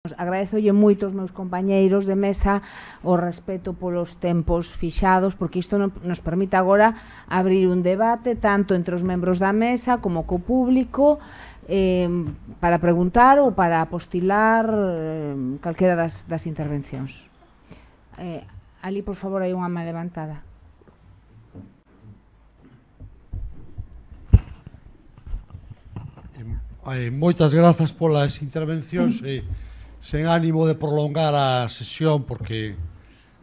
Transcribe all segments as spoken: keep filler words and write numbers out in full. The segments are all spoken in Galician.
Agradezolle moito aos meus compañeiros de mesa o respeto polos tempos fixados, porque isto nos permite agora abrir un debate tanto entre os membros da mesa como co público, eh, para preguntar ou para apostilar eh, calquera das, das intervencións. Eh, ali, por favor, hai unha má levantada. Eh, moitas grazas polas intervencións e sen ánimo de prolongar a sesión, porque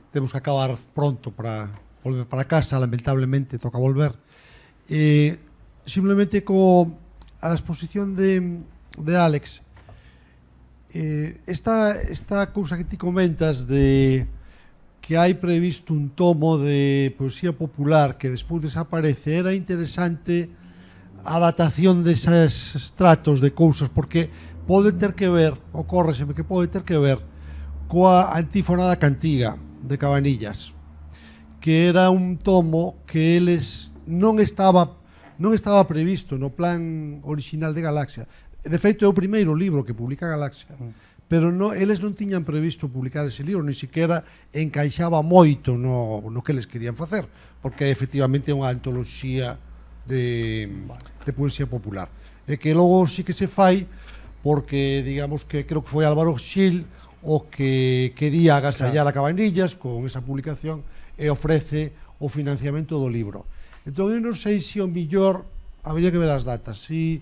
temos que acabar pronto para volver para casa, lamentablemente toca volver. E simplemente co a exposición de, de Álex, eh, esta, esta cousa que ti comentas de que hai previsto un tomo de poesía popular que despois desaparece, era interesante a datación deses estratos de cousas, porque pode ter que ver, ocórreseme que pode ter que ver coa Antífona da Cantiga de Cabanillas, que era un tomo que eles non estaba non estaba previsto no plan original de Galaxia. De feito é o primeiro libro que publica Galaxia, pero no, eles non tiñan previsto publicar ese libro, ni siquiera encaixaba moito no, no que eles querían facer, porque efectivamente é unha antoloxía de, de poesía popular, e que logo sí que se fai porque, digamos, que creo que foi Álvaro Xil o que quería agasallar claro. a Cabanillas con esa publicación e ofrece o financiamento do libro. Entón, eu non sei se o millor habría que ver as datas, si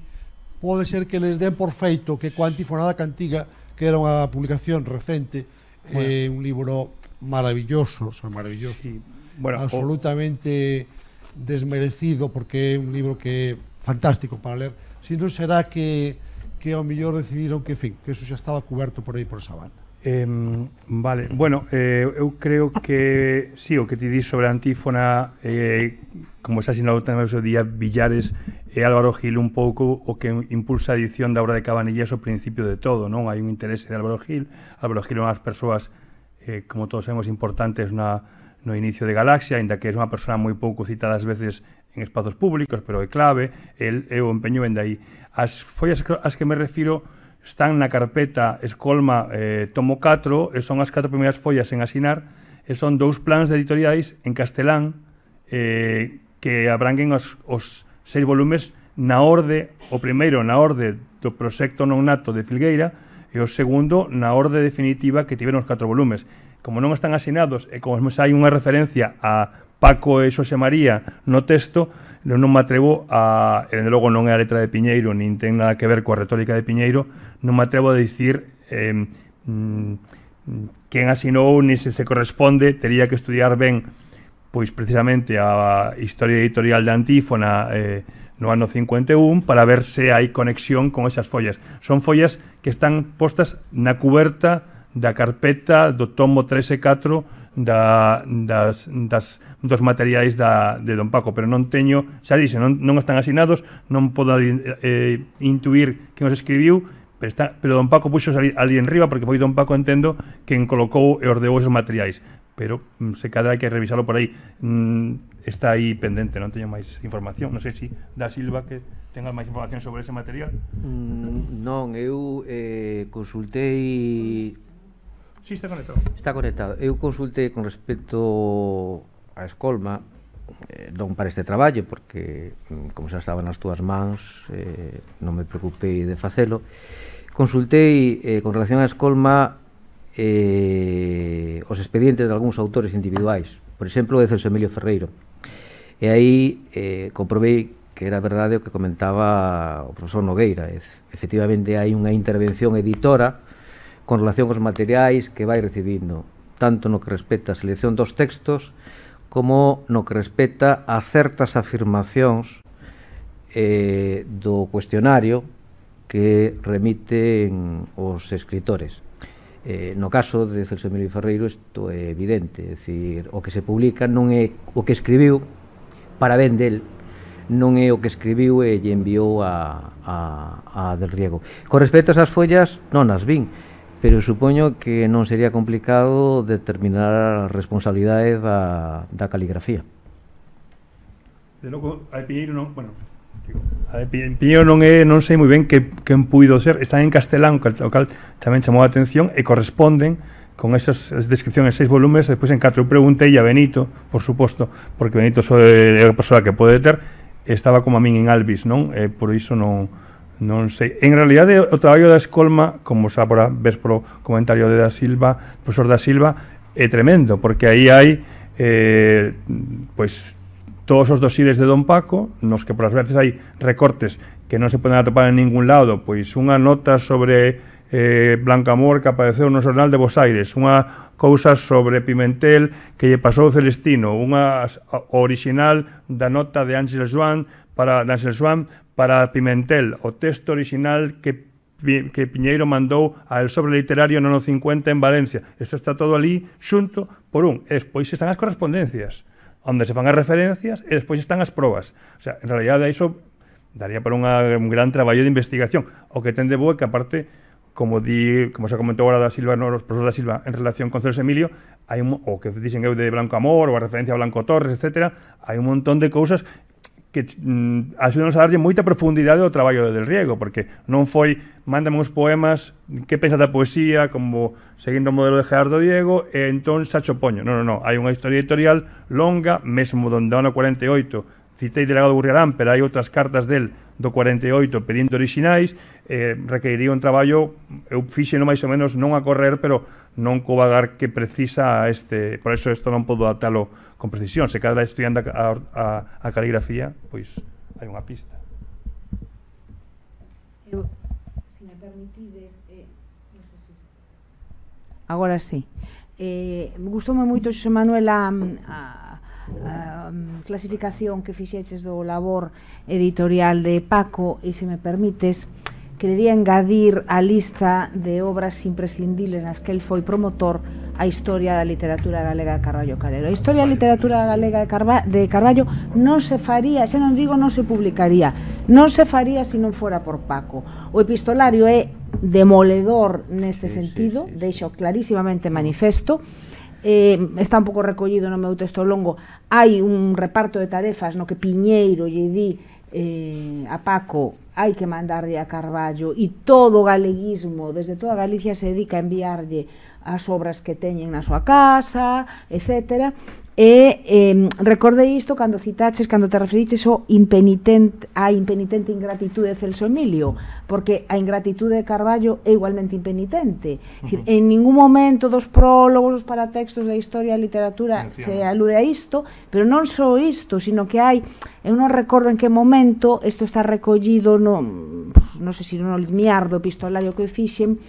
pode ser que les den por feito que coa Antífona da Cantiga, que era unha publicación recente, bueno. eh, un libro maravilloso, o sea, maravilloso, sí. bueno, absolutamente o... desmerecido, porque é un libro que é fantástico para ler, si non será que que ao mellor decidiron que, en fin, que eso xa estaba cuberto por aí por esa banda. Eh, vale, bueno, eh, eu creo que sí, o que ti dis sobre a Antífona, eh, como xa sinalou tamén o seu día Villares e Álvaro Gil, un pouco o que impulsa a edición da obra de Cabanillas ao principio de todo, non? Hai un interese de Álvaro Gil. Álvaro Gil é unhas persoas, eh, como todos sabemos, importantes na, no inicio de Galaxia, ainda que é unha persona moi pouco citada ás veces en espazos públicos, pero é clave, el é o empeño ven de aí. As follas ás que me refiro están na carpeta Escolma eh, tomo catro, e son as catro primeiras follas en asinar, e son dous plans de editoriais en castelán eh, que abranguen os, os seis volumes na orde, o primeiro na orde do proxecto non nato de Filgueira e o segundo na orde definitiva que tiveron os catro volumes. Como non están asinados e como hai unha referencia a Paco e Xosé María no texto, non me atrevo a, e logo non é a letra de Piñeiro, nin ten nada que ver coa retórica de Piñeiro, non me atrevo a dicir eh, mm, quen asinou, ni se se corresponde, tería que estudiar ben, pois precisamente a historia editorial de Antífona eh, no ano cincuenta e un, para ver se hai conexión con esas follas. Son follas que están postas na cuberta da carpeta do tomo tres e catro da, das, das, dos materiais da, de Don Paco, pero non teño, xa dixe, non, non están asinados, non podo eh, intuir quen os escribiu, pero, está, pero Don Paco puxos ali, ali en riba, porque foi Don Paco, entendo, quen colocou e ordeou esos materiais, pero se cadra hai que revisarlo por aí. Mm, está aí pendente, non teño máis información. Non sei se da Silva que tenga máis información sobre ese material. Mm, non, eu eh, consultei. Sí, está conectado. Está conectado. Eu consultei con respecto a Escolma, eh, non para este traballo, porque, como xa estaba nas túas mans, eh, non me preocupei de facelo. Consultei eh, con relación a Escolma eh, os expedientes de algúns autores individuais, por exemplo, de Celso Emilio Ferreiro. E aí eh, comprobei que era verdade o que comentaba o profesor Nogueira. Efectivamente, hai unha intervención editora con relación aos materiais que vai recibindo, tanto no que respecta a selección dos textos como no que respecta a certas afirmacións eh, do cuestionario que remiten os escritores. Eh, no caso de Celso Emilio Ferreiro isto é evidente, é dicir, o que se publica non é o que escribiu para ben del, non é o que escribiu e lle enviou a, a, a Del Riego. Con respecto a esas follas, non as vin, pero supoño que non sería complicado determinar a responsabilidade da, da caligrafía. De logo, a Piñeiro non, bueno, A de Piñeiro non, é, non sei moi ben que, quen puido ser, están en castelán, o cal tamén chamou a atención, e corresponden con esas descripcións en seis volumes, despois en catro. Eu preguntei a Benito, por suposto, porque Benito é a persoa que pode ter, estaba como a min en Albis, non? E por iso non, non sei. En realidade, o traballo da Escolma, como xa por a ves polo comentario de Da Silva, profesor Da Silva, é tremendo, porque aí hai eh, pois todos os dosires de Don Paco, nos que por as veces hai recortes que non se poden atopar en ningún lado, pois unha nota sobre eh, Blancamor que apareceu no Xornal de Bos Aires, unha cousa sobre Pimentel que lle pasou Celestino, unha original da nota de Ángel Joan para, de Ángel Joan para Pimentel, o texto original que que Piñeiro mandou ao sobre literario no ano cincuenta en Valencia. Isto está todo ali xunto por un. E despois están as correspondencias, onde se fan as referencias e despois están as probas. O sea, en realidade iso daría para unha, un gran traballo de investigación. O que ten de boa que aparte, como di, como se comentou agora da Silva, no, os profesor da Silva, en relación con Celso Emilio, hai un, o que dixen eu de Blanco Amor, ou a referencia a Blanco Torres, etcétera, hai un montón de cousas que mm, axudanos a darlle moita profundidade ao traballo de Del Riego, porque non foi mándame uns poemas, que pensas da poesía, como seguindo o modelo de Gerardo Diego, e entón xa cho poño. Non, non, non, hai unha historia editorial longa, mesmo donde ano cuarenta e oito citei Delegado Gurriarán, pero hai outras cartas del do cuarenta e oito pedindo orixinais, eh, requeriría un traballo, eu fixeno máis ou menos non a correr, pero non co vagar que precisa este, por eso isto non podo adaptalo con precisión. Se cada estudiante a, a, a caligrafía, pois hai unha pista. Eu, se me permitides, eh, non sei se... agora sí. Eh, gustoume moito, Xosé Manuel, a, a, a clasificación que fixeches do labor editorial de Paco, e se me permites, querería engadir a lista de obras imprescindibles nas que el foi promotor a historia da literatura galega de Carballo Calero. A historia da literatura galega de, Carva de Carballo non se faría, xa non digo non se publicaría, non se faría se non fora por Paco. O epistolario é demoledor neste sí, sentido, sí, sí, deixo clarísimamente manifesto. Eh, está un pouco recollido no meu texto longo. Hai un reparto de tarefas no que Piñeiro lle di eh, a Paco hai que mandarlle a Carballo, e todo o galeguismo desde toda Galicia se dedica a enviarlle as obras que teñen na súa casa, etcétera. E eh, recordei isto cando citaches, cando te referiches o impenitente, a impenitente ingratitude de Celso Emilio, porque a ingratitude de Carballo é igualmente impenitente. Uh -huh. En ningún momento dos prólogos, os paratextos da historia e literatura se alude a isto, pero non só isto, sino que hai, eu non recordo en que momento, isto está recollido no, non sei se no limiar do epistolario que fixen,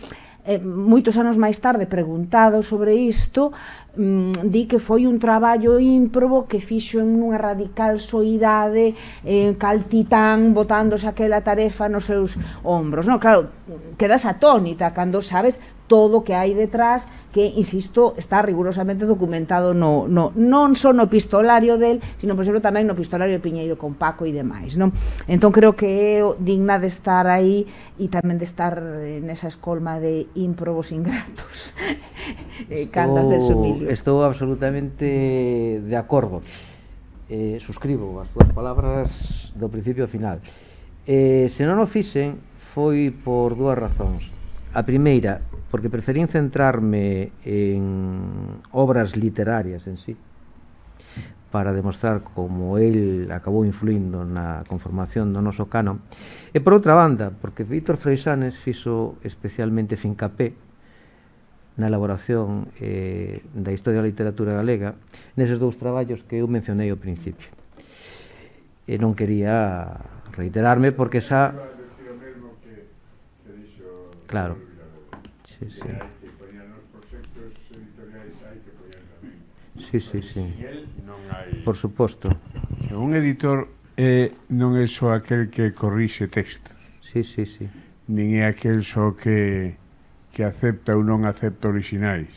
eh, moitos anos máis tarde, preguntado sobre isto, mm, di que foi un traballo ímprobo que fixo en unha radical soidade, eh, cal titán botándose aquela tarefa nos seus ombros. No, claro, quedas atónita cando sabes todo o que hai detrás, que, insisto, está rigurosamente documentado no, no, non só no epistolario del, sino, por exemplo, tamén no epistolario de Piñeiro con Paco e demais, non? Entón, creo que é digna de estar aí e tamén de estar nesa escolma de ímprobos ingratos. Cando Celso Emilio. Estou absolutamente de acordo. Eh, suscribo as túas palabras do principio ao final. Eh, se non o fixen, foi por dúas razóns. A primeira, porque preferín centrarme en obras literarias en sí, para demostrar como el acabou influindo na conformación do noso canon, e por outra banda, porque Víctor Freixanes fixo especialmente fincapé na elaboración eh, da historia da literatura galega neses dous traballos que eu mencionei ao principio. E non quería reiterarme porque xa... Claro. Sí, sí. Sí, sí, sí. Por suposto. Un editor eh, non é só aquel que corrixe textos. Sí, sí, sí. Nin é aquel só que, que acepta ou non acepta orixinais.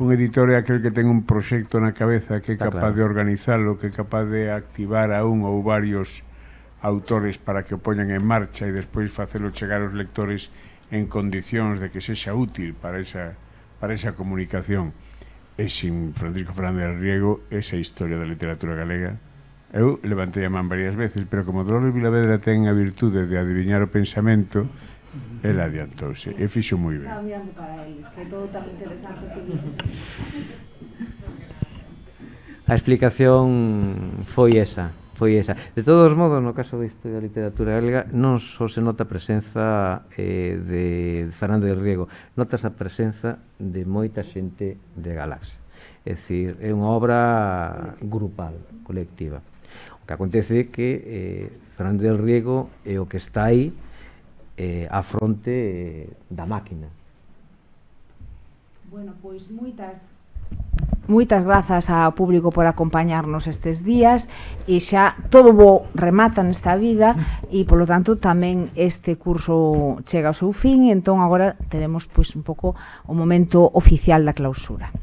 Un editor é aquel que ten un proxecto na cabeza, que é capaz de organizalo, que é capaz de activar a un ou varios autores para que o poñan en marcha e despois facelo chegar aos lectores en condicións de que sexa útil para esa, para esa comunicación. E sin Francisco Fernández del Riego, esa historia da literatura galega Eu levantei a man varias veces, pero como Dolores Vilavedra ten a virtude de adiviñar o pensamento, ela adiantouse e fixo moi ben. Estaba mirando para eles, que todo tan interesante que a explicación foi esa, foi esa. De todos modos, no caso da historia da literatura galega, non só se nota a presenza eh, de Fernández del Riego, notas a presenza de moita xente de Galaxia. É dicir, é unha obra grupal, colectiva. O que acontece é que eh, Fernández del Riego é o que está aí eh, á fronte eh, da máquina. Bueno, pois moitas moitas grazas ao público por acompañarnos estes días e xa todo bo remata nesta vida e polo tanto tamén este curso chega ao seu fin e entón agora teremos pois un pouco o momento oficial da clausura.